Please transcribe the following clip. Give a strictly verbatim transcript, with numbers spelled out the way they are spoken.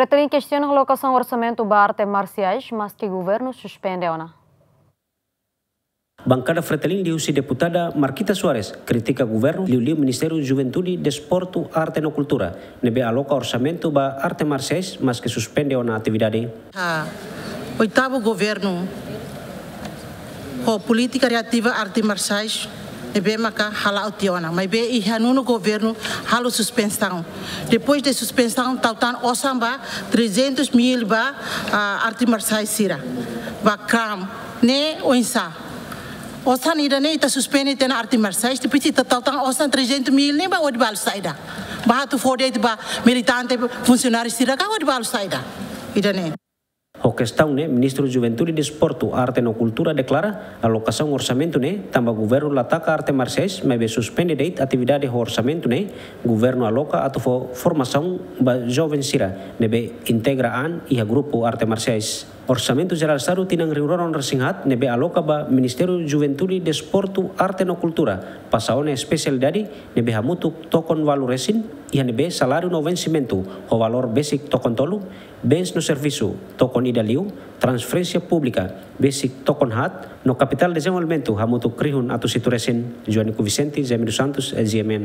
Fretilin kestiona alokasaun orsamentu ba arte marsiais, maske governu suspende ona. Bankada Fretilin liuhusi deputada Marquita Soares kritika governu liuliu Ministériu Juventude, Desportu, Arte no Kultura ne'ebé aloka orsamentu ba arte marsiais, maske suspende ona atividade. Oitavu governu ho polítika reativa arte marsiais ne'ebé maka hala'o tiha ona, maibé iha nonu governu halo suspensaun. Depois de suspensaun, tau tan osan ba trezentos mil ba arte marsiais sira, ba kram ne'e oinsá. Osan ida-ne'e ita suspende tiha ona arte marsiais, depois ita tau tan osan trezentos mil ne'e ba hodi balu saida? Ba atu fó de'it ba militante, funsionáriu sira ka hodi balu saida? Ida-ne'e. Ho kestaun ne'e, Ministru Juventude, Desportu, Arte no Kultura deklara alokasaun orsamentu ne'e tanba governu la taka arte marsiais, maibé suspende de'it atividade ho orsamentu ne'e governu aloka atu fó formasaun ba joven sira ne'ebé integra an iha grupu arte marsiais. Orsamentu Jerál Estadu tinan rihun rua ruanulu-resin-haat ne'ebé aloka ba Ministériu Juventude, Desportu, Arte no Kultura pasa ona espesialidade ne'ebé hamutuk tokon ualu resin, iha ne'ebé saláriu no vensimentu ho valór besik tokon tolu, bens no servisu tokon ida liu, transferénsia públika besik tokon haat, no kapitál dezenvolvimentu hamutuk rihun atus hitu resin. Joanico Vicente, Zé Miro Santos, GMN.